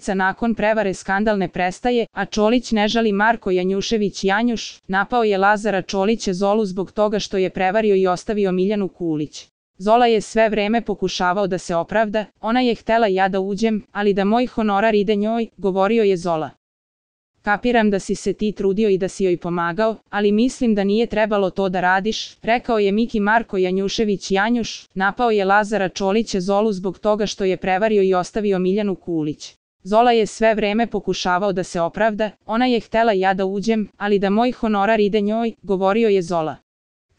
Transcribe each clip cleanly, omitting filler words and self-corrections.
sedmica nakon prevare skandal ne prestaje, a Čolić ne žali. Marko Janjušević Janjuš napao je Lazara Čolića Zolu zbog toga što je prevario i ostavio Miljanu Kulić. Zola je sve vreme pokušavao da se opravda, ona je htela ja da uđem, ali da moj honorar ide njoj, govorio je Zola. Kapiram da si se ti trudio i da si joj pomagao, ali mislim da nije trebalo to da radiš, rekao je Miki. Marko Janjušević Janjuš napao je Lazara Čolića Zolu zbog toga što je prevario i ostavio Miljanu Kulić. Zola je sve vreme pokušavao da se opravda, ona je htela ja da uđem, ali da moj honorar ide njoj, govorio je Zola.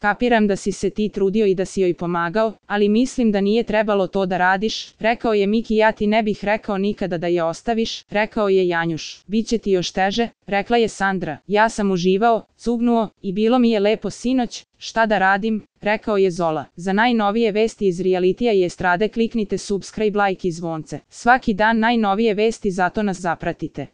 Kapiram da si se ti trudio i da si joj pomagao, ali mislim da nije trebalo to da radiš, rekao je Miki. Ja ti ne bih rekao nikada da je ostaviš, rekao je Janjuš. Biće ti još teže, rekla je Sandra. Ja sam uživao, cugnuo i bilo mi je lepo sinoć, šta da radim, rekao je Zola. Za najnovije vesti iz realitija i estrade kliknite subscribe, like i zvonce. Svaki dan najnovije vesti, zato nas zapratite.